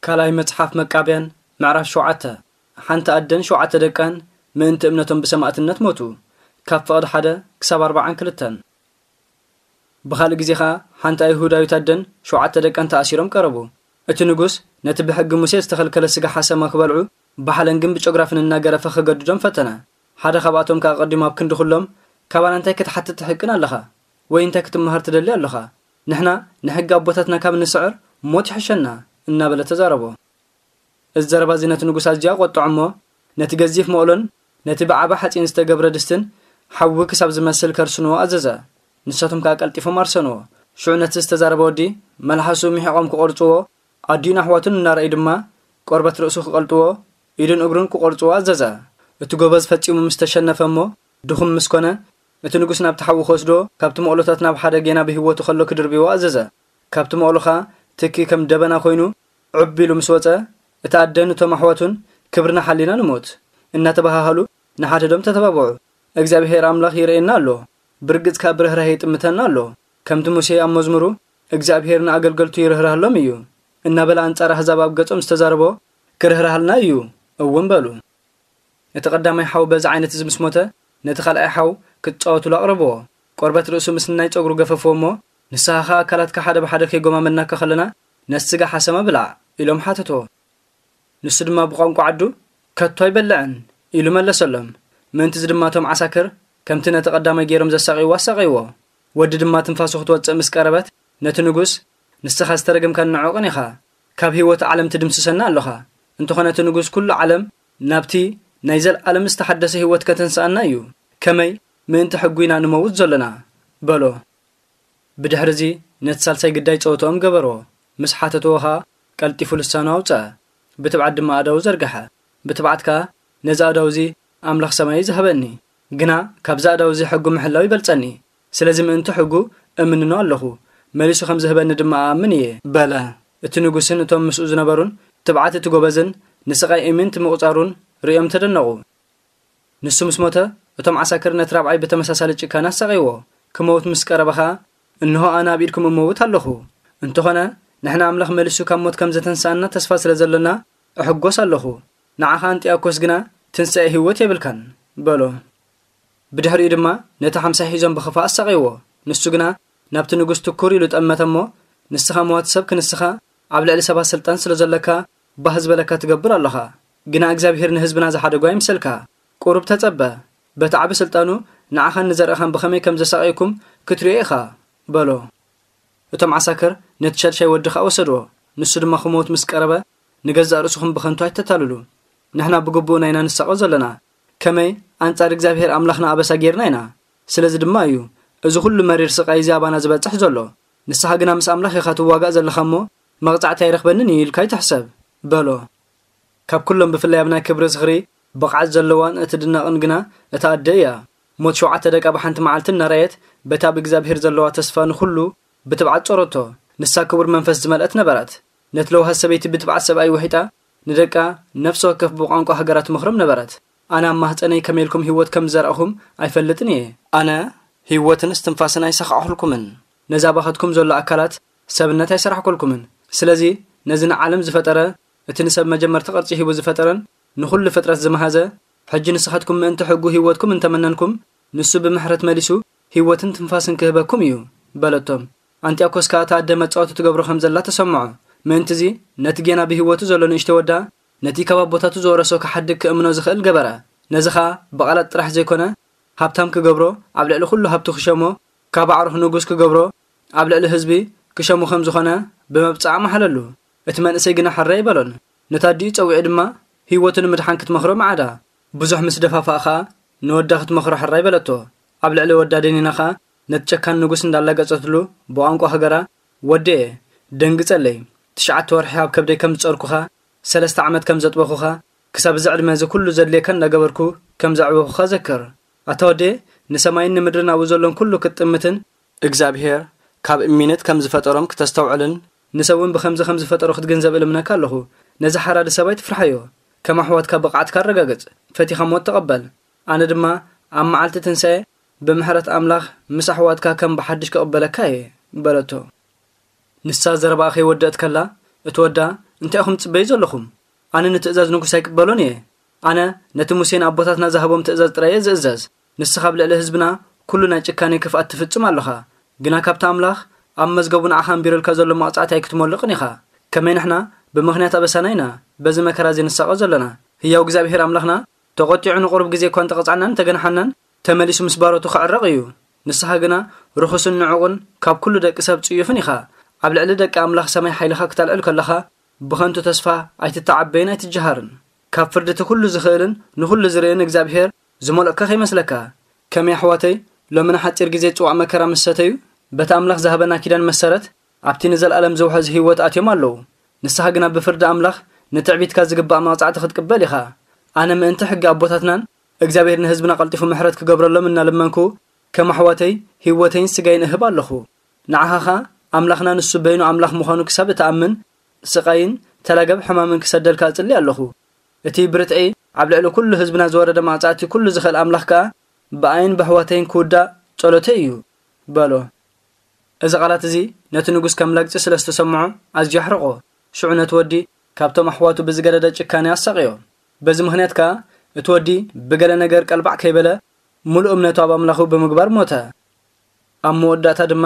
ካልኣይ መጽሓፍ መቃብያን ምዕራፍ ሸውዓተ። ሓንቲ ኣደን ሸውዓተ ደቃን ምእንቲ እምነቶም ብሰማእትነት ሞቱ። ካብ ፍቕዲ ሓደ ክሳብ ኣርብዓን ክልተን። ብኻልእ ግዜ ኸኣ ሓንቲ ኣይሁዳዊት ኣደን ሸውዓተ ደቃን ተኣሲሮም ቀረቡ። እቲ ንጉስ ነቲ ብሕጊ ሙሴ ዝተኸልከለ ስጋ ሓሰማ ክበልዑ ብሓለንግን ብጨጉራፍን እናገረፈ ክገድዶም ፈተነ። ሓደ ካብኣቶም ከኣ ኣቐዲሙ ኣብ ክንዲ ኩሎም፣ "ካባና እንታይ ክትሓትት ትሕቅን ኣለኻ? ወይ እንታይ ክትመሃር ትደሊ ኣለኻ? ንሕና ንሕጊ ኣቦታትና ካብ ንስዕር ሞት ይሕሸና" እናበለ ተዛረቦ። እዚ ዘረባ እዚ ነቲ ንጉስ ኣዝዩ ኣቖጥዖ እሞ፣ ነቲ ገዚፍ መቕሎን ነቲ ብዓቢ ሓጺን ዝተገብረ ድስትን ሓዊ ክሳብ ዝመስል ከርስንዎ ኣዘዘ። ንሳቶም ከኣ ቀልጢፎም ኣርሰንዎ። ሽዑ ነቲ ዝተዛረበ ወዲ መልሓሱ ምሒቖም ክቖርጽዎ፣ ኣዲኡን ኣሕዋቱን እናረኣዩ ድማ ቆርበት ርእሱ ክቐልጥዎ፣ ኢዱን እግሩን ክቖርጽዎ ኣዘዘ። እቲ ጎበዝ ፈጺሙ ምስ ተሸነፈ እሞ ድኹም ምስ ኮነ፣ እቲ ንጉስ ናብቲ ሓዊ ክወስዶ፣ ካብቲ መቕሎታት ናብ ሓደ ጌና ብህይወቱ ከሎ ክድርብይዎ ኣዘዘ። ካብቲ መቕሎ ኸኣ ትኪ ከም ደበና ኮይኑ ዑብ ኢሉ ምስ ወጸ፣ እታ ኣደን እቶም ኣሕዋቱን "ክብርና ሓሊና ንሞት" እናተባሃሃሉ ንሓድሕዶም ተተባብዑ። "እግዚኣብሄር ኣምላኽ ይርእየና ኣሎ፣ ብርግጽ ከኣ ብርህራሄ ይጥምተና ኣሎ። ከምቲ ሙሴ ኣብ መዝሙሩ፣ 'እግዚኣብሄር ንኣገልገልቱ ይርህርሃሎም እዩ' እናበለ ኣንጻር ኣህዛብ ኣብ ገጾም ዝተዛረቦ፣ ክርህርሃልና እዩ" እውን በሉ። እቲ ቀዳማይ ሓው በዚ ዓይነት እዚ ምስ ሞተ፣ ነቲ ካልኣይ ሓው ክትጻወቱሉ ኣቕረብዎ። ቆርበት ርእሱ ምስ ናይ ጸጉሩ ገፈፍዎ እሞ፣ "ንስኻ ኸኣ ኣካላትካ ሓደ ብሓደ ከይጎማመድናካ ከለና፣ ነቲ ስጋ ሓሰማ ብላዕ" ኢሎም ሓተትዎ። ንሱ ድማ ብቋንቋ ዓዱ፣ "ከቶ ኣይበልዕን" ኢሉ መለሰሎም። ምእንትዚ ድማ እቶም ዓሳክር ከምቲ ነቲ ቀዳማይ ገይሮም ዘሳቕይዎ ኣሳቐይዎ። ወዲ ድማ ትንፋሱ ክትወጽእ ምስ ቀረበት፣ ነቲ ንጉስ፣ "ንስኻ ዝተረገምካን ንዑቕን ኢኻ። ካብ ህይወት ዓለም ትድምስሰና ኣለኻ። እንተኾነ እቲ ንጉስ ኩሉ ዓለም ናብቲ ናይ ዘለኣለም ዝተሓደሰ ህይወት ከተንስኣና እዩ። ከመይ ምእንቲ ሕጉ ኢና ንመውት ዘሎና?" በሎ። ብድሕርዚ ነቲ ሳልሳይ ግዳይ ጸወትኦም ገበርዎ። ምስ ሓተትዎ ኸኣ ቀልጢፉ ልሳኑ ኣውጽአ። ብትብዓት ድማ ኣእዳዉ ዘርግሐ። ብትብዓት ከኣ፣ "ነዚ ኣእዳው እዚ ኣምላኽ ሰማይ እዩ ዝሃበኒ። ግና ካብዚ ኣእዳው እዚ ሕጉ ምሕላው ይበልጸኒ። ስለዚ ምእንቲ ሕጉ እምንኖ ኣለኹ። መሊሱ ከም ዝህበኒ ድማ እኣምን እየ" በለ። እቲ ንጉስን እቶም ምስኡ ዝነበሩን ትብዓት እቲ ጎበዝን ንስቓይ እምንት ምቑጻሩን ርእዮም ተደነቑ። ንሱ ምስ ሞተ፣ እቶም ዓሳክር ነቲ ራብዓይ ብተመሳሳሊ ጭካነ ኣሳቐይዎ። ክመውት ምስ ቀረበ ኸኣ፣ "እንሆ ኣነ ኣብ ኢድኩም እመውት ኣለኹ። እንተኾነ፣ ንሕና ኣምላኽ መሊሱ ካብ ሞት ከም ዘተንስኣና ተስፋ ስለ ዘሎና፣ እሕጎስ ኣለኹ። ንዓኻ ኣንጢኣኮስ ግና ትንሳኤ ህይወት የብልካን" በሎ። ብድሕሪኡ ድማ ነቲ ሓምሳይ ሒዞም ብኽፋእ ኣሳቐይዎ። ንሱ ግና፣ ናብቲ ንጉስ ትኩር ኢሉ ጠመተ እሞ፣ "ንስኻ መዋቲ ሰብ ክንስኻ፣ ኣብ ልዕሊ ሰባት ስልጣን ስለ ዘለካ፣ ባህ ዝበለካ ትገብር ኣለኻ። ግና እግዚኣብሄር ንህዝብና ዝሓደጎ ኣይምሰልካ። ቁሩብ ተጸበ። በቲ ዓቢ ስልጣኑ ንዓኻን ንዘርእኻን ብኸመይ ከም ዘሳቐየኩም ክትርእዮ ኢኻ" በሎ። እቶም ዓሳክር ነቲ ሻድሻይ ወዲ ኸኣ ወሰድዎ። ንሱ ድማ ክሞት ምስ ቀረበ፣ "ንገዛእ ርእስኹም ብኸንቱ ኣይተታልሉ። ንሕና ብግቡእ ኢና ንሳቐ ዘለና። ከመይ ኣንጻር እግዚኣብሄር ኣምላኽና ኣበሳ ጌርና ኢና። ስለዚ ድማ እዩ እዚ ኹሉ መሪር ስቓይ እዚ ኣባና ዝበጽሕ ዘሎ። ንስኻ ግና ምስ ኣምላኽ ኢኻ ትዋጋእ ዘለኻ እሞ፣ መቕጻዕቲ ኣይረኽበንን እዩ ኢልካ ኣይትሕሰብ" በሎ። ካብ ኩሎም ብፍላይ ኣብ ናይ ክብሪ ዝኽሪ ብቕዓት ዘለዋን እትድነቕን ግና እታ ኣደ እያ። ሞት ሸውዓተ ደቃ ብሓንቲ መዓልቲ እናረኣየት፣ በታ ብእግዚኣብሄር ዘለዋ ተስፋ ንኹሉ ብትብዓት ጾረቶ። ንሳ ክቡር መንፈስ ዝመልአት ነበረት። ነቲ ለውሃት ሰበይቲ ብትብዓት ሰብኣይ ውሒጣ፣ ንደቃ ነፍሲ ወከፍ ብቋንቋ ሃገራ ትመኽሮም ነበረት። "ኣነ ኣብ ማህጸነይ ከመይ ኢልኩም ህይወት ከም ዝዘራእኹም ኣይፈልጥን እየ። ኣነ ህይወትን እስትንፋስን ኣይሰኻዕኩልኩምን። ነዚ ኣባኻትኩም ዘሎ ኣካላት ሰብነት ኣይሰራሕኩልኩምን። ስለዚ ነዚ ንዓለም ዝፈጠረ፣ እቲ ንሰብ መጀመርታ ቅርጺ ሂቡ ዝፈጠረን ንኹሉ ፍጥረት ዝመሃዘ፣ ሕጂ ንስኻትኩም ምእንቲ ሕጉ ህይወትኩም እንተመነንኩም፣ ንሱ ብምሕረት መሊሱ ህይወትን ትንፋስን ክህበኩም እዩ" በለቶም። ኣንጢያኮስ ከኣ እታ ኣደ መጻወቲ ትገብሮ ከም ዘላ ተሰምዖ። ምእንትዚ ነቲ ጌና ብህይወቱ ዘሎ ንእሽቶ ወዳ፣ ነቲ ካብ ኣቦታቱ ዝወረሶ ክሓድግ ክእምኖ ዝኽእል ገበረ። ነዚ ኸኣ ብቓላት ጥራሕ ዘይኮነ፣ ሃብታም ክገብሮ፣ ኣብ ልዕሊ ኩሉ ሃብቱ ክሸሞ፣ ካብ ኣዕሩኽ ንጉስ ክገብሮ፣ ኣብ ልዕሊ ህዝቢ ክሸሙ ከም ዝኾነ ብመብጽዓ መሓለሉ። እቲ መንእሰይ ግና ሕራይ ኣይበሎን። ነታ ኣዲኡ ጸዊዑ ድማ ህይወቱ ንምድሓን ክትመኽሮ መዓዳ። ብዙሕ ምስ ደፋፍኣ ኸኣ ንወዳ ክትመኽሮ ሕራይ በለቶ። ኣብ ልዕሊ ወዳ ደኒና ኸኣ ነቲ ጨካን ንጉስ እንዳላገጸትሉ ብቋንቋ ሃገራ፣ "ወደየ፣ ደንግጸለይ። ትሽዓተ ወርሒ ኣብ ከብደይ ከም ዝጸርኩኻ፣ ሰለስተ ዓመት ከም ዘጥበኹኻ፣ ክሳብ እዚ ዕድመ እዚ ኩሉ ዘድልየካ እንዳገበርኩ ከም ዘዕበኹኻ ዘክር። ኣታ ወደየ፣ ንሰማይን ንምድርን ኣብኡ ዘሎን ኩሉ ክትጥምትን፣ እግዚኣብሄር ካብ እሚንት ከም ዝፈጠሮም ክተስተውዕልን፣ ንሰብ እውን ብኸምዚ ከም ዝፈጠሮ ክትግንዘብ እልምነካ ኣለኹ። ነዚ ሓራዲ ሰብኣይ ትፍርሓዮ። ከም ኣሕዋትካ ብቕዓትካ ኣረጋግጽ። ፈቲኻ ሞት ተቐበል። ኣነ ድማ ኣብ መዓልቲ ትንሳኤ ብምሕረት ኣምላኽ ምስ ኣሕዋትካ ከም ብሓድሽ ክቕበለካ እየ" በለቶ። ንሳ ዘረባኣ ከይወደእት ከላ፣ እቲ ወዳ፣ እንታይ ኢኹም ትጽበዩ ዘለኹም? ኣነ ንትእዛዝ ንጉስ ኣይቅበሎን እየ። ኣነ ነቲ ሙሴ ንኣቦታትና ዝሃቦም ትእዛዝ ጥራይ እየ ዝእዘዝ። ንስኻ ኣብ ልዕሊ ህዝብና ኩሉ ናይ ጭካኔ ክፍኣት ትፍጽም ኣለኻ። ግና ካብቲ ኣምላኽ ኣብ መዝገቡ ንዓኻ ኣንቢሩልካ ዘሎ መቕጻዕቲ ኣይክትመልቕን ኢኻ። ከመይ ንሕና ብምኽንያት ኣበሳና ኢና በዚ መከራ እዚ ንሳቐ ዘለና? ህያው እግዚኣብሔር ኣምላኽና ተቖጢዑ ንቑሩብ ግዜ እኳ እንተቐጽዓናን እንተገንሓናን፣ ተመሊሱ ምስ ባሮቱ ክዕረቕ እዩ። ንስኻ ግና ርኹስን ንዑቕን ካብ ኩሉ ደቂ ሰብ ጽዩፍን ኢኻ። ኣብ ልዕሊ ደቂ ኣምላኽ ሰማይ ሓይልኻ ክተልዕል ከለኻ፣ ብኸንቱ ተስፋ ኣይትተዓበይን ኣይትጀሃርን። ካብ ፍርዲ እቲ ኩሉ ዝኽእልን ንኹሉ ዝርእን እግዚኣብሔር ዝመልኦካ ከይመስለካ። ከመይ ኣሕዋተይ፣ ሎሚ ንሓጺር ግዜ ጽዋእ መከራ ምስ ሰተዩ፣ በቲ ኣምላኽ ዝሃበና ኪዳን መሰረት፣ ኣብቲ ንዘለኣለም ዝውሕዝ ህይወት ኣትዮም ኣለዉ። ንስኻ ግና ብፍርዲ ኣምላኽ ንትዕቢትካ ዝግባእ መቕጻዕቲ ክትቅበል ኢኻ። ኣነ ምእንቲ ሕጊ ኣቦታትናን እግዚኣብሔር ንህዝብና ቀልጢፉ ምሕረት ክገብረሎም እናለመንኩ፣ ከም ኣሕዋተይ ህይወተይን ስጋይን እህብ ኣለኹ። ንዓኻ ኸኣ ኣምላኽና ንሱ በይኑ ኣምላኽ ምዃኑ ክሳብ እትኣምን፣ ስቓይን ተላገብ ሕማምን ክሰደልካ እጽሊ ኣለኹ። እቲ ብርትዒ ኣብ ልዕሊ ኩሉ ህዝብና ዝወረደ መቕጻዕቲ ኩሉ ዝኽእል ኣምላኽ ከኣ ብኣይን ብኣሕዋተይን ክውዳእ ጸሎተይ እዩ በሎ። እዚ ቃላት እዚ ነቲ ንጉስ ከም ላግጺ ስለ ዝተሰምዖ ኣዝዩ ኣሕረቖ። ሽዑ ነቲ ወዲ ካብቶም ኣሕዋቱ ብዝገደደ ጭካኔ ኣሳቕዮ። በዚ ምኽንያት ከኣ እቲ ወዲ ብገለ ነገር ቀልባዕ ከይበለ ምሉእ እምነቱ ኣብ ኣምላኹ ብምግባር ሞተ። ኣብ መወዳእታ ድማ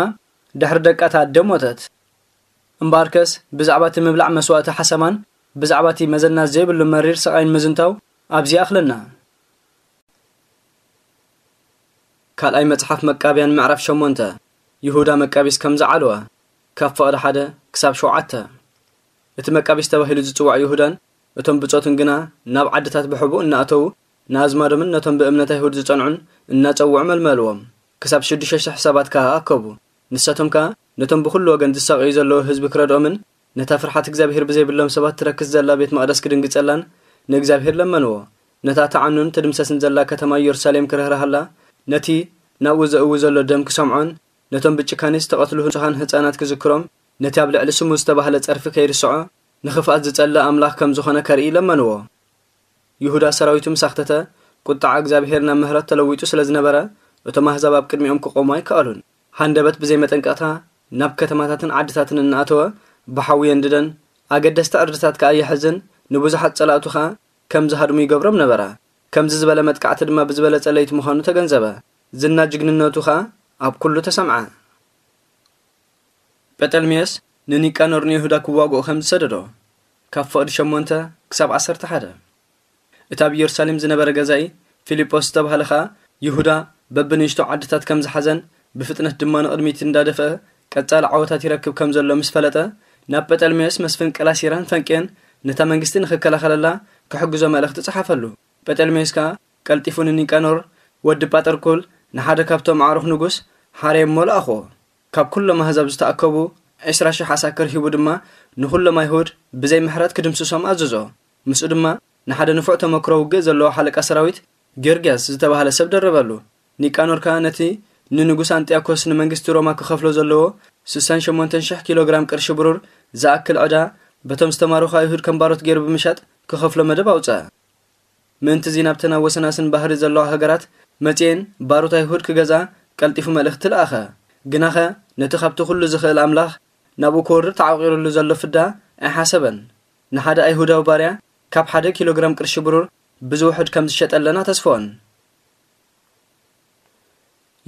ድሕሪ ደቃ እታ ኣደ ሞተት። እምበኣርከስ ብዛዕባ እቲ ምብላዕ መስዋእቲ ሓሰማን ብዛዕባ እቲ መዘና ዘይብሉ መሪር ስቓይን ምዝንታው ኣብዚ ይኣኽለና። ካልኣይ መጽሓፍ መቃብያን ምዕራፍ ሸሞንተ። ይሁዳ መቃቢስ ከም ዝዓለወ፣ ካብ ፍቕዲ ሓደ ክሳብ ሸውዓተ። እቲ መቃቢስ ተባሂሉ ዝጽዋዕ ይሁዳን እቶም ብጾቱን ግና ናብ ዓድታት ብሕቡእ እናኣተዉ፣ ንኣዝማዶምን ነቶም ብእምነት ኣይሁድ ዝጸንዑን እናጸውዑ መልመልዎም። ክሳብ ሽዱሽተ ሽሕ ሰባት ከኣ ኣከቡ። ንሳቶም ከኣ ነቶም ብኹሉ ወገን ዝሳቐዩ ዘለዉ ህዝቢ ክረድኦምን ነታ ፍርሓት እግዚኣብሔር ብዘይብሎም ሰባት ትረክስ ዘላ ቤት መቕደስ ክድንግጸላን ንእግዚኣብሔር ለመንዎ። ነታ ትዓኑን ትድምሰስን ዘላ ከተማ ኢየሩሳሌም ክርህርሃላ፣ ነቲ ናብኡ ዘእዊ ዘሎ ደም ክሰምዖን ነቶም ብጭካኔ ዝተቐትሉ ንጹሃን ህጻናት ክዝክሮም፣ ነቲ ኣብ ልዕሊ ስሙ ዝተባህለ ጸርፊ ከይርስዖ፣ ንኽፍኣት ዝጸልእ ኣምላኽ ከም ዝኾነ ከርኢ ለመንዎ። ይሁዳ ሰራዊቱ ምስ ኣኽተተ፣ ቁጥዓ እግዚኣብሔር ናብ ምሕረት ተለዊጡ ስለ ዝነበረ፣ እቶም ኣህዛብ ኣብ ቅድሚኦም ክቖሙ ኣይከኣሉን። ሃንደበት ብዘይ መጠንቀቕታ ናብ ከተማታትን ዓድታትን እናኣተወ ብሓዊ የንድደን፣ ኣገደስቲ ዕርድታት ከኣ ይሕዝን፣ ንብዙሓት ጸላእቱ ኸኣ ከም ዝሃድሙ ይገብሮም ነበረ። ከምዚ ዝበለ መጥቃዕቲ ድማ ብዝበለጸ ለይቲ ምዃኑ ተገንዘበ። ዝና ጅግንነቱ ኸኣ ኣብ ኩሉ ተሰምዐ። ጴጠልሜዮስ ንኒቃኖር ንይሁዳ ክዋግኦ ከም ዝሰደዶ፣ ካብ ፍቕዲ ሸሞንተ ክሳብ ዓሰርተ ሓደ። እቲ ኣብ ኢየሩሳሌም ዝነበረ ገዛኢ ፊልጶስ ዝተባህለ ኸኣ፣ ይሁዳ በብንእሽቶ ዓድታት ከም ዝሓዘን ብፍጥነት ድማ ንቕድሚት እንዳደፍአ ቀጻሊ ዓወታት ይረክብ ከም ዘሎ ምስ ፈለጠ፣ ናብ ጴጠልሜዮስ መስፍን ቀላሲራን ፈንቅየን ነታ መንግስቲ ንኽከላኸለላ ክሕግዞ መልእኽቲ ጸሓፈሉ። ጴጠልሜዮስ ከኣ ቀልጢፉ ንኒቃኖር ወዲ ጳጠርኩል ንሓደ ካብቶም ኣዕሩኽ ንጉስ ሓርየሞ ለኣኽዎ። ካብ ኩሎም ኣህዛብ ዝተኣከቡ ዕስራ ሽሕ ዓሳክር ሂቡ ድማ ንኹሎም ኣይሁድ ብዘይ ምሕረት ክድምስሶም ኣዘዞ። ምስኡ ድማ ንሓደ ንፉዕ ተመክሮ ውግእ ዘለዎ ሓለቃ ሰራዊት ጊዮርጊያስ ዝተባህለ ሰብ ደረበሉ። ኒቃኖር ከኣ ነቲ ንንጉስ ኣንጢያኮስ ንመንግስቲ ሮማ ክኸፍሎ ዘለዎ ስሳን ሸሞንተን ሽሕ ኪሎ ግራም ቅርሺ ብሩር ዝኣክል ዕዳ በቶም ዝተማረኹ ኣይሁድ ከም ባሮት ገይሩ ብምሻጥ ክኸፍሎ መደብ ኣውጸአ። ምእንቲ እዚ ናብተን ኣብ ወሰናስን ባሕሪ ዘለዋ ሃገራት መጺኤን ባሮት ኣይሁድ ክገዝኣ ቀልጢፉ መልእኽቲ ለኣኸ። ግናኸ ነቲ ካብቲ ኩሉ ዝኽእል ኣምላኽ ናብኡ ክወርድ ተዓቂሩሉ ዘሎ ፍዳ ኣይሓሰበን። ንሓደ ኣይሁዳዊ ባርያ ካብ ሓደ ኪሎ ግራም ቅርሺ ብሩር ብዝውሕድ ከም ዝሸጠለን ኣተስፈወን።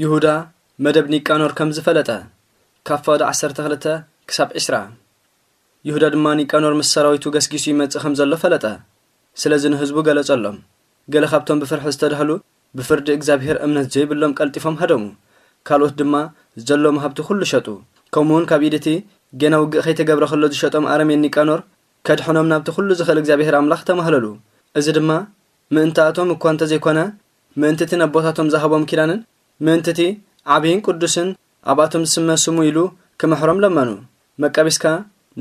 ይሁዳ መደብ ኒቃኖር ከም ዝፈለጠ፣ ካብ ፍቕዲ ዓሰርተ ክልተ ክሳብ ዕስራ። ይሁዳ ድማ ኒቃኖር ምስ ሰራዊቱ ገስጊሱ ይመጽእ ከም ዘሎ ፈለጠ። ስለዚ ንህዝቡ ገለጸሎም። ገለ ካብቶም ብፍርሒ ዝተዳህሉ ብፍርዲ እግዚኣብሔር እምነት ዘይብሎም ቀልጢፎም ሃደሙ። ካልኦት ድማ ዘለዎም ሃብቲ ኩሉ ሸጡ። ከምኡውን ካብ ኢድ እቲ ጌና ውግእ ከይተገብረ ከሎ ዝሸጦም ኣረሜን ኒቃኖር ከድሕኖም ናብቲ ኩሉ ዝኽእል እግዚኣብሔር ኣምላኽ ተማህለሉ። እዚ ድማ ምእንታኣቶም እኳ እንተዘይኮነ፣ ምእንቲ እቲ ነቦታቶም ዝሃቦም ኪዳንን ምእንቲ እቲ ዓብይን ቅዱስን ኣብኣቶም ዝስመ ስሙ ኢሉ ክምሕሮም ለመኑ። መቃቢስካ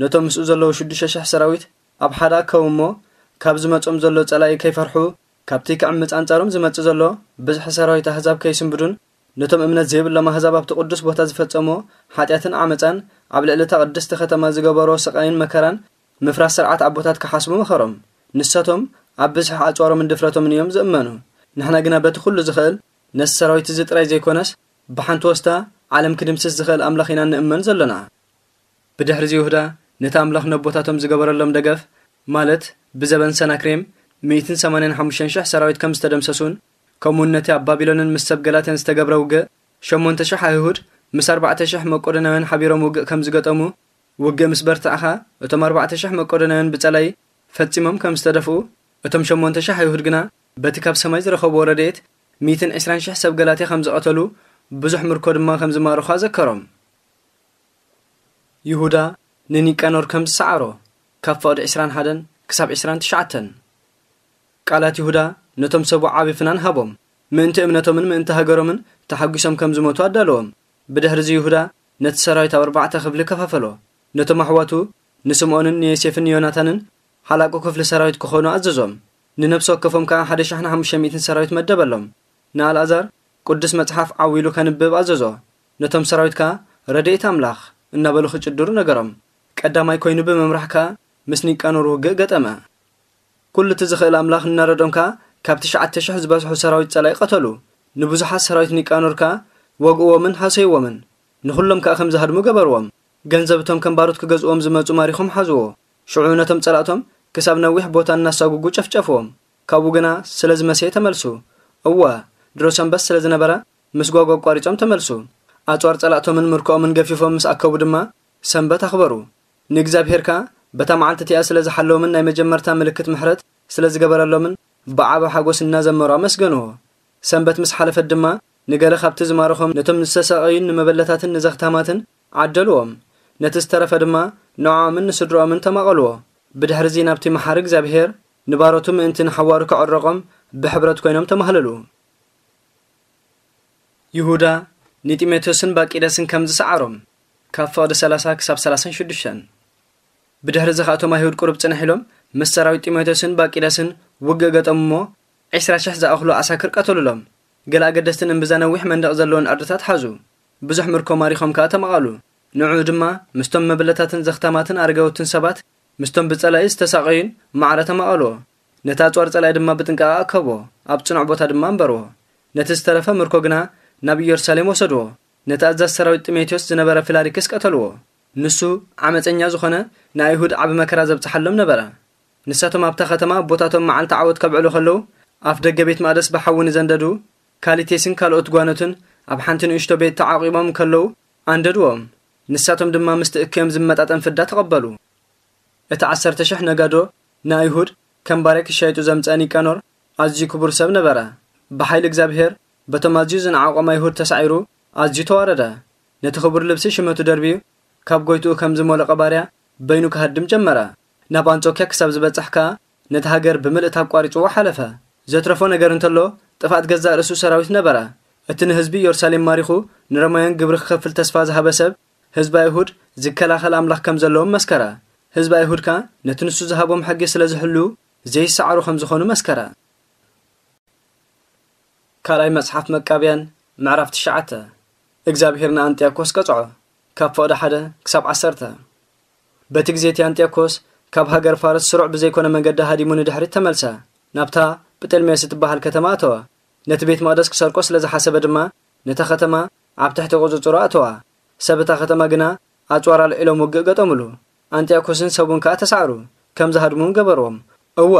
ነቶም ምስኡ ዘለዉ ሽዱሽተ ሽሕ ሰራዊት ኣብ ሓደ ኣከቡ እሞ፣ ካብ ዝመጾም ዘሎ ጸላኢ ከይፈርሑ፣ ካብቲ ክዕምጽ ኣንጻሮም ዝመጽእ ዘሎ ብዝሒ ሰራዊት ኣህዛብ ከይስንብዱን፣ ነቶም እምነት ዘይብሎም ኣህዛብ ኣብቲ ቅዱስ ቦታ ዝፈጸሞ ሓጢኣትን ዓመጻን፣ ኣብ ልዕሊ እታ ቅድስቲ ከተማ ዝገበሮ ስቓይን መከራን፣ ምፍራስ ስርዓት ኣቦታት ክሓስቡ መኸሮም። ንሳቶም ኣብ ብዝሒ ኣጽዋሮምን ድፍረቶምን እዮም ዝእመኑ። ንሕና ግና በቲ ኩሉ ዝኽእል ነቲ ሰራዊት እዚ ጥራይ ዘይኮነስ፣ ብሓንቲ ወስታ ዓለም ክድምስስ ዝኽእል ኣምላኽ ኢና እንእመን ዘለና። ብድሕሪ እዚ ይሁዳ ነቲ ኣምላኽ ነቦታቶም ዝገበረሎም ደገፍ፣ ማለት ብዘበን ሰናክሬም ሚእትን ሰማንያን ሓሙሽተን ሽሕ ሰራዊት ከም ዝተደምሰሱን፣ ከምኡውን ነቲ ኣብ ባቢሎንን ምስ ሰብ ገላትያን ዝተገብረ ውግእ፣ ሸሞንተ ሽሕ ኣይሁድ ምስ ኣርባዕተ ሽሕ መቄዶናውያን ሓቢሮም ውግእ ከም ዝገጠሙ፣ ውግእ ምስ በርትዐኻ፣ እቶም ኣርባዕተ ሽሕ መቄዶናውያን ብጸላይ ፈጺሞም ከም ዝተደፍኡ፣ እቶም ሸሞንተ ሽሕ ኣይሁድ ግና በቲ ካብ ሰማይ ዝረኸብዎ ረድኤት፣ ሚእትን ዕስራን ሽሕ ሰብ ገላትያ ከም ዝቐተሉ፣ ብዙሕ ምርኮ ድማ ከም ዝማረኹ ኣዘከሮም። ይሁዳ ንኒቃኖር ከም ዝሰዓሮ፣ ካብ ፍቕዲ ዕስራን ሓደን ክሳብ ዕስራን ትሽዓተን። ቃላት ይሁዳ ነቶም ሰቡ ዓቢ ፍናን ሃቦም፣ ምእንቲ እምነቶምን ምእንቲ ሃገሮምን ተሓጒሶም ከም ዝሞቱ ኣዳለዎም። ብድሕሪዚ ይሁዳ ነቲ ሰራዊት ኣብ ኣርባዕተ ክፍሊ ከፋፈሎ። ነቶም ኣሕዋቱ ንስምኦንን ንዮሴፍን ንዮናታንን ሓላቁ ክፍሊ ሰራዊት ክኾኑ ኣዘዞም። ንነፍሲ ወከፎም ከኣ ሓደ ሽሕን ሓሙሽተ ሚእትን ሰራዊት መደበሎም። ንኣልኣዛር ቅዱስ መጽሓፍ ዓው ኢሉ ከንብብ ኣዘዞ። ነቶም ሰራዊት ከኣ ረድኤት ኣምላኽ እናበሉ ክጭድሩ ነገሮም። ቀዳማይ ኮይኑ ብምምራሕ ከኣ ምስ ኒቃኖር ውግእ ገጠመ። ኩሉ እቲ ዝኽእል ኣምላኽ እናረዶም ከኣ ካብ ትሽዓተ ሽሕ ዝበዝሑ ሰራዊት ጸላኢ ቀተሉ። ንብዙሓት ሰራዊት ኒቃኖር ከኣ ወግእዎምን ሃሰይዎምን። ንኹሎም ከኣ ከም ዝሃድሙ ገበርዎም። ገንዘብ እቶም ከም ባሮት ክገዝእዎም ዝመጹ ማሪኾም ሓዝዎ። ሽዑ ነቶም ጸላእቶም ክሳብ ነዊሕ ቦታ እናሳጉጉ ጨፍጨፍዎም። ካብኡ ግና ስለ ዝመሰየ ተመልሱ። እወ፣ ድሮ ሰንበት ስለ ዝነበረ ምስ ጓጓ ኣቋሪጾም ተመልሱ። ኣጽዋር ጸላእቶምን ምርኮኦምን ገፊፎም ምስ ኣከቡ ድማ ሰንበት ኣኽበሩ። ንእግዚኣብሔር ከኣ በታ መዓልቲ እቲኣ ስለ ዝሓለዎምን ናይ መጀመርታ ምልክት ምሕረት ስለ ዝገበረሎምን ብዓቢ ሓጎስ እናዘመሩ ኣመስገንዎ። ሰንበት ምስ ሓለፈት ድማ ንገለ ካብቲ ዝማረኾም ነቶም ዝተሳቐዩን ንመበለታትን ንዘኽታማትን ዓደልዎም። ነቲ ዝተረፈ ድማ ንዕኦምን ንስድርኦምን ተማቐልዎ። ብድሕርዚ ናብቲ መሓሪ እግዚኣብሔር ንባሮቱ ምእንቲ ንሓዋሩ ክዕረቖም ብሕብረት ኮይኖም ተማህለሉ። ይሁዳ ንጢሞቴዎስን ባቂደስን ከም ዝሰዓሮም ካብ ፍቕዲ ሰላሳ ክሳብ ሰላሳን ሽዱሽተን። ብድሕሪ እዚ ኸኣቶም ኣይሁድ ቁሩብ ጽንሕ ኢሎም ምስ ሰራዊት ጢሞቴዎስን ባቂደስን ውግእ ገጠሙ እሞ ዕስራ ሽሕ ዝኣኽሉ ኣሳክር ቀተሉሎም። ገለ ኣገደስትን እምብዛ ነዊሕ መንደቕ ዘለዎን ዓድታት ሓዙ። ብዙሕ ምርኮ ማሪኾም ከኣ ተማቐሉ። ንዕኡ ድማ ምስቶም መብለታትን ዘኽታማትን ኣረጋውትን ሰባት ምስቶም ብጸላኢ ዝተሳቐዩን ማዕረ ተማቐልዎ። ነቲ ኣጽዋር ጸላኢ ድማ ብጥንቃቐ ኣከብዎ፣ ኣብ ጽኑዕ ቦታ ድማ ኣንበርዎ። ነቲ ዝተረፈ ምርኮ ግና ናብ ኢየሩሳሌም ወሰድዎ። ነቲ ኣዛዚ ሰራዊት ጢሞቴዎስ ዝነበረ ፊላሪክስ ቀተልዎ። ንሱ ዓመጸኛ ዝኾነ ንኣይሁድ ዓቢ መከራ ዘብጽሓሎም ነበረ። ንሳቶም ኣብታ ከተማ ኣቦታቶም መዓልቲ ዓወት ከብዕሉ ከለዉ፣ ኣፍ ደገ ቤት መቕደስ ብሓዊ ንዘንደዱ ካሊቴስን ካልኦት ጓኖትን ኣብ ሓንቲ ንእሽቶ ቤት ተዓቂቦም ከለዉ ኣንደድዎም። ንሳቶም ድማ ምስቲ እከዮም ዝመጣጠን ፍዳ ተቐበሉ። እቲ ዓሰርተ ሽሕ ነጋዶ ንኣይሁድ ከም ባርያ ክሻይጡ ዘምጽአ ኒቃኖር ኣዝዩ ክቡር ሰብ ነበረ። ብሓይሊ እግዚኣብሔር በቶም ኣዝዩ ዝነዓቖም ኣይሁድ ተሳዒሩ ኣዝዩ ተዋረደ። ነቲ ክቡር ልብሲ ሽመቱ ደርብዩ ካብ ጎይትኡ ከም ዝሞለቐ ባርያ በይኑ ክሃድም ጀመረ። ናብ ኣንጾክያ ክሳብ ዝበጽሕ ከኣ ነቲ ሃገር ብምልእታ ኣቋሪጽዎ ሓለፈ። ዘትረፎ ነገር እንተሎ ጥፍኣት ገዛእ ርእሱ ሰራዊት ነበረ። እቲ ንህዝቢ ኢየሩሳሌም ማሪኹ ንሮማውያን ግብሪ ክኸፍል ተስፋ ዝሃበ ሰብ ህዝቢ ኣይሁድ ዝከላኸል ኣምላኽ ከም ዘለዎም መስከረ። ህዝቢ ኣይሁድ ከኣ ነቲ ንሱ ዝሃቦም ሕጊ ስለ ዝሕልዉ ዘይሰዓሩ ከም ዝኾኑ መስከረ። ካልኣይ መጽሓፍ መቃብያን ምዕራፍ ትሽዓተ። እግዚኣብሔር ንኣንጥያኮስ ቀጽዖ። ካብ ፍቕዲ ሓደ ክሳብ ዓሰርተ። በቲ ግዜ እቲ ኣንጥያኮስ ካብ ሃገር ፋርስ ስሩዕ ብዘይኮነ መገዲ ሃዲሙ ንድሕሪት ተመልሰ። ናብታ ጵጠልሜስ እትበሃል ከተማ ኣተወ። ነቲ ቤት መቕደስ ክሰርቆ ስለ ዝሓሰበ ድማ ነታ ከተማ ኣብ ትሕቲ ቁጽጽሩ ኣተዋ። ሰብ እታ ከተማ ግና ኣጽዋር ኣልዒሎም ውግእ ገጠሙሉ። ኣንጥያኮስን ሰቡን ከኣ ተሳዕሩ፣ ከም ዝሃድሙ እውን ገበርዎም። እወ፣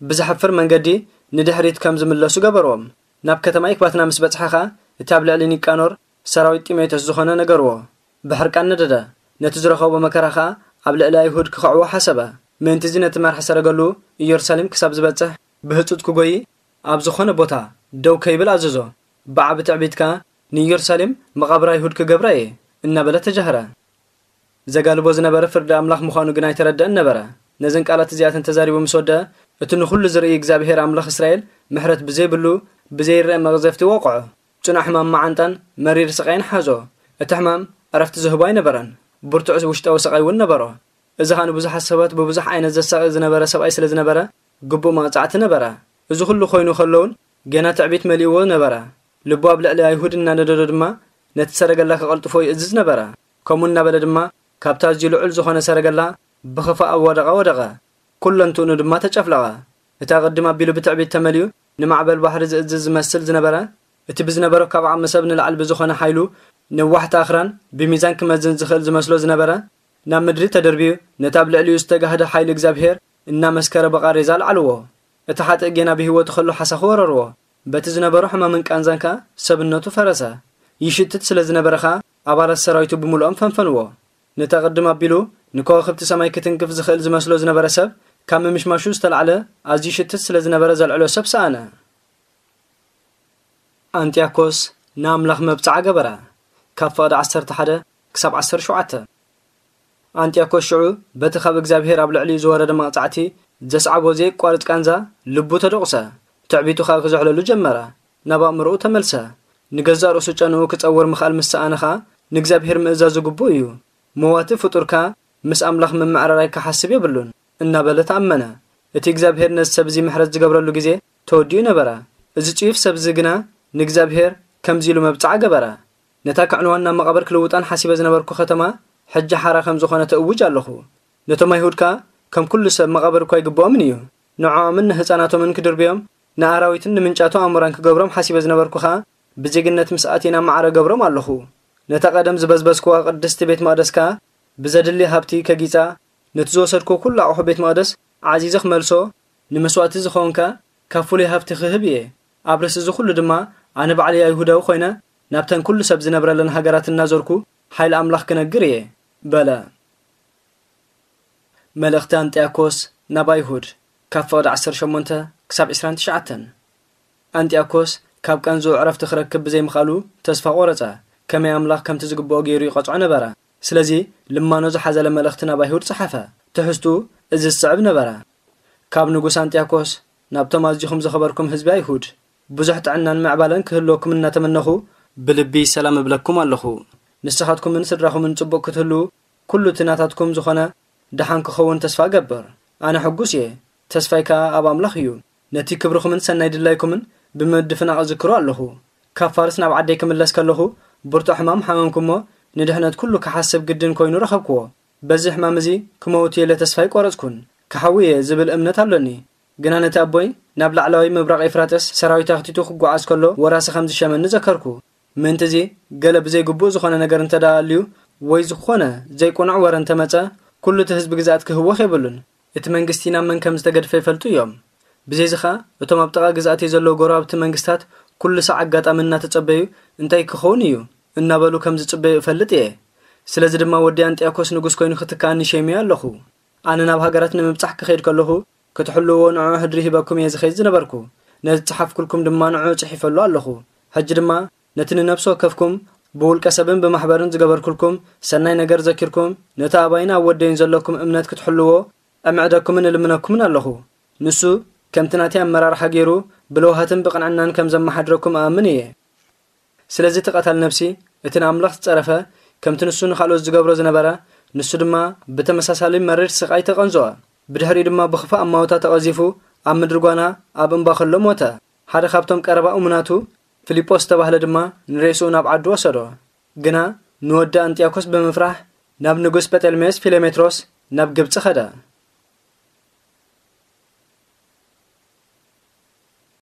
ብዘሕፍር መንገዲ ንድሕሪት ከም ዝምለሱ ገበርዎም። ናብ ከተማ ኢክባትና ምስ በጽሐ ኸኣ እቲ ኣብ ልዕሊ ኒቃኖር ሰራዊት ጢሞቴዎስ ዝኾነ ነገርዎ። ብሕርቃን ነደደ። ነቲ ዝረኸቦ መከራ ኸኣ ኣብ ልዕሊ ኣይሁድ ክኸዕዎ ሓሰበ። ምእንቲ እዚ ነቲ መርሒ ሰረገሉ ኢየሩሳሌም ክሳብ ዝበጽሕ ብህጹጽ ክጎዪ ኣብ ዝኾነ ቦታ ደው ከይብል ኣዘዞ። ብዓቢ ትዕቢት ከኣ ንኢየሩሳሌም መቓብር ኣይሁድ ክገብራ እየ እናበለ ተጃህረ። ዘጋልቦ ዝነበረ ፍርዲ ኣምላኽ ምዃኑ ግን ኣይተረድአን ነበረ። ነዘን ቃላት እዚኣተን ተዛሪቡ ምስ ወደአ፣ እቲ ንኹሉ ዝርኢ እግዚኣብሔር ኣምላኽ እስራኤል ምሕረት ብዘይብሉ ብዘይረአ መቕዘፍቲ ወቕዖ። ጽኑዕ ሕማም መዓንጣን መሪር ስቓይን ሓዞ። እቲ ሕማም ዕረፍቲ ዝህቦ ኣይነበረን። ብርቱዕ ውሽጣዊ ስቓይ እውን ነበሮ። እዚ ኸኣ ንብዙሓት ሰባት ብብዙሕ ዓይነት ዘሳቒ ዝነበረ ሰብኣይ ስለ ዝነበረ ግቡእ መቕጻዕቲ ነበረ። እዚ ኹሉ ኮይኑ ከሎ እውን ገና ትዕቢት መሊእዎ ነበረ። ልቡ ኣብ ልዕሊ ኣይሁድ እናነደዶ ድማ ነቲ ሰረገላ ከቐልጥፎ ይእዝዝ ነበረ። ከምኡ እናበለ ድማ ካብቲ ኣዝዩ ልዑል ዝኾነ ሰረገላ ብኽፋእ ኣብ ወደቐ ወደቐ። ኩለንትኡ ድማ ተጨፍለቐ። እቲ ኣቐድም ኣቢሉ ብትዕቢት ተመሊኡ ንማዕበል ባሕሪ ዝእዝዝ ዝመስል ዝነበረ፣ እቲ ብዝነበሮ ካብ ዓቕሚ ሰብ ንላዕሊ ብዝኾነ ሓይሉ ነዋሕቲ ኣኽራን ብሚዛን ክመዝን ዝኽእል ዝመስሎ ዝነበረ፣ ናብ ምድሪ ተደርብዩ፣ ነቲ ኣብ ልዕሊኡ ዝተጋህደ ሓይሊ እግዚኣብሔር እናመስከረ ብቓሬዛ ኣልዓልዎ። እቲ ሓጥእ ጌና ብህይወቱ ከሎ ሓሳኹ ወረርዎ። በቲ ዝነበሮ ሕማምን ቃንዛን ከኣ ሰብነቱ ፈረሰ። ይሽትት ስለ ዝነበረ ኸኣ ኣባላት ሰራዊቱ ብምልኦም ፈንፈንዎ። ነቲ ኣቐድም ኣቢሉ ንከዋኽብቲ ሰማይ ክትንክፍ ዝኽእል ዝመስሎ ዝነበረ ሰብ፣ ካብ ምምሽማሹ ዝተላዕለ ኣዝዩ ይሽትት ስለ ዝነበረ ዘልዕሎ ሰብ ሰኣነ። ኣንጢያኮስ ንኣምላኽ መብጽዓ ገበረ። ካብ ፍቕዲ ዓሰርተ ሓደ ክሳብ ዓሰርተ ሸውዓተ። ኣንጢያኮስ ሽዑ በቲ ካብ እግዚኣብሔር ኣብ ልዕሊኡ ዝወረደ መቕጻዕቲ ዘስዓቦ ዘየቋርጽ ቃንዛ ልቡ ተደቑሰ። ትዕቢቱ ኸኣ ክዝሕለሉ ጀመረ። ናብ ኣእምሮኡ ተመልሰ። ንገዛእ ርእሱ ጨንኡ ክጸውር ምኽኣል ምስ ሰኣነ ኸኣ ንእግዚኣብሔር ምእዛዙ ግቡእ እዩ። መዋቲ ፍጡር ከኣ ምስ ኣምላኽ ምምዕርራይ ክሓስብ የብሉን እናበለ ተኣመነ። እቲ እግዚኣብሔር ነዚ ሰብ እዚ ምሕረት ዝገብረሉ ግዜ ተወዲኡ ነበረ። እዚ ጽዩፍ ሰብ እዚ ግና ንእግዚኣብሔር ከምዚ ኢሉ መብጽዓ ገበረ። ነታ ከዕንዋን ናብ መቓብር ክልውጣን ሓሲበ ዝነበርኩ ከተማ ሕጂ ሓራ ከም ዝኾነ ተእውጅ ኣለኹ። ነቶም ኣይሁድ ከኣ ከም ኩሉ ሰብ መቓብር እኳ ይግብኦምን እዩ። ንዕኦምን ንህፃናቶምን ክድርብዮም ንኣራዊትን ንምንጫቱ ኣሞራን ክገብሮም ሓሲበ ዝነበርኩ ኸኣ ብዜግነት ምስ ኣቴና ማዕረ ገብሮም ኣለኹ። ነታ ቀደም ዝበዝበዝክዋ ቅድስቲ ቤት መቕደስ ከኣ ብዘድሊ ሃብቲ ከጊጻ፣ ነቲ ዝወሰድክዎ ኩሉ ኣቑሑ ቤት መቕደስ ዓዚዘ ክመልሶ፣ ንመስዋእቲ ዝኸውን ከኣ ካብ ፍሉይ ሃብቲ ክህብ እየ። ኣብ ርእሲ እዚ ኩሉ ድማ ኣነ ባዕለይ ኣይሁዳዊ ኮይነ ናብተን ኩሉ ሰብ ዝነብረለን ሃገራት እናዞርኩ ሓይሊ ኣምላኽ ክነግር እየ በለ። መልእኽቲ ኣንጢያኮስ ናብ ኣይሁድ ካብ ፍቕዲ ዓሰርተ ሸሞንተ ክሳብ ዕስራን ትሽዓተን። ኣንጢያኮስ ካብ ቀንዝኡ ዕረፍቲ ክረክብ ብዘይምኽኣሉ ተስፋ ቆረጸ። ከመይ ኣምላኽ ከምቲ ዝግብኦ ገይሩ ይቐጽዖ ነበረ። ስለዚ ልማኖ ዝሓዘለ መልእኽቲ ናብ ኣይሁድ ጸሓፈ። ትሕዝቱ እዚ ዝስዕብ ነበረ። ካብ ንጉስ ኣንጢያኮስ ናብቶም ኣዚኹም ዘኸበርኩም ህዝቢ ኣይሁድ ብዙሕ ጥዕናን ምዕባለን ክህልወኩም እናተመነኹ ብልቢ ሰላም እብለኩም ኣለኹ። ንስኻትኩምን ስድራኹምን ጽቡቕ ክትህልዉ ኩሉ እቲ ናታትኩም ዝኾነ ደሓን ክኸውን ተስፋ እገብር። ኣነ ሕጉስ እየ፣ ተስፋይ ከኣ ኣብ ኣምላኽ እዩ። ነቲ ክብርኹምን ሰናይ ድላይኩምን ብምድፍናቕ እዝክሮ ኣለኹ። ካብ ፋርስ ናብ ዓደይ ክምለስ ከለኹ ብርቱዕ ሕማም ሓመምኩ እሞ ንድሕነት ኩሉ ክሓስብ ግድን ኮይኑ ረኸብክዎ። በዚ ሕማም እዚ ክመውት እየ ኢለ ተስፋ ኣይቆረጽኩን። ክሓዊ እየ ዝብል እምነት ኣሎኒ። ግና ነቲ ኣቦይ ናብ ላዕለዋይ ምብራቕ ኤፍራጥስ ሰራዊት ኣኽቲቱ ክጓዓዝ ከሎ ወራሲ ከም ዝሸመኒ ዘከርኩ። ምእንቲ እዚ ገለ ብዘይግቡእ ዝኾነ ነገር እንተ ደኣ ኣልዩ ወይ ዝኾነ ዘይቁኑዕ ወረ እንተ መጸ፣ ኩሉ እቲ ህዝቢ ግዝኣት ክህወኽ የብሉን። እቲ መንግስቲ ናብ መን ከም ዝተገድፈ ይፈልጡ እዮም። ብዘይዚ ኸኣ እቶም ኣብ ጥቓ ግዝኣተይ ዘለዉ ጎረባብቲ መንግስታት ኩሉ ሳዕ ኣጋጣሚ እናተጸበዩ እንታይ ክኸውን እዩ እናበሉ ከም ዝጽበዩ እፈልጥ እየ። ስለዚ ድማ ወዲ ኣንጢያኮስ ንጉስ ኮይኑ ክትክኣኒ ሸይመዮ ኣለኹ። ኣነ ናብ ሃገራት ንምብጻሕ ክኸይድ ከለኹ ክትሕልውዎ ንዕኡ ሕድሪ ሂበኩም እየ ዝኸይድ ዝነበርኩ። ነዚ ዝጸሓፍኩልኩም ድማ ንዕኡ ጽሒፈሉ ኣለኹ። ሕጂ ድማ ነቲ ንነፍሲ ወከፍኩም ብውልቀ ሰብን ብማሕበርን ዝገበርኩልኩም ሰናይ ነገር ዘኪርኩም፣ ነቲ ኣባይን ኣብ ወደይን ዘለኩም እምነት ክትሕልዎ እምዕደኩምን እልምነኩምን ኣለኹ። ንሱ ከምቲ ናተይ ኣመራርሓ ገይሩ ብለውሃትን ብቕንዕናን ከም ዘመሓድረኩም እኣምን እየ። ስለዚ እቲ ቀታል ነፍሲ፣ እቲ ንኣምላኽ ዝጸረፈ፣ ከምቲ ንሱ ንኻልኦት ዝገብሮ ዝነበረ፣ ንሱ ድማ ብተመሳሳሊ መሪር ስቓይ ተቐንዝኦ። ብድሕሪኡ ድማ ብኽፉእ ኣማውታ ተቐዚፉ፣ ኣብ ምድሪ ጓና ኣብ እምባ ከሎ ሞተ። ሓደ ካብቶም ቀረባ እሙናቱ፣ ፊልጶስ ዝተባህለ ድማ ንሬስኡ ናብ ዓዱ ወሰዶ። ግና ንወዲ ኣንጢያኮስ ብምፍራሕ፣ ናብ ንጉስ ጴጠልሜዎስ ፊለሜትሮስ ናብ ግብጺ ኸደ።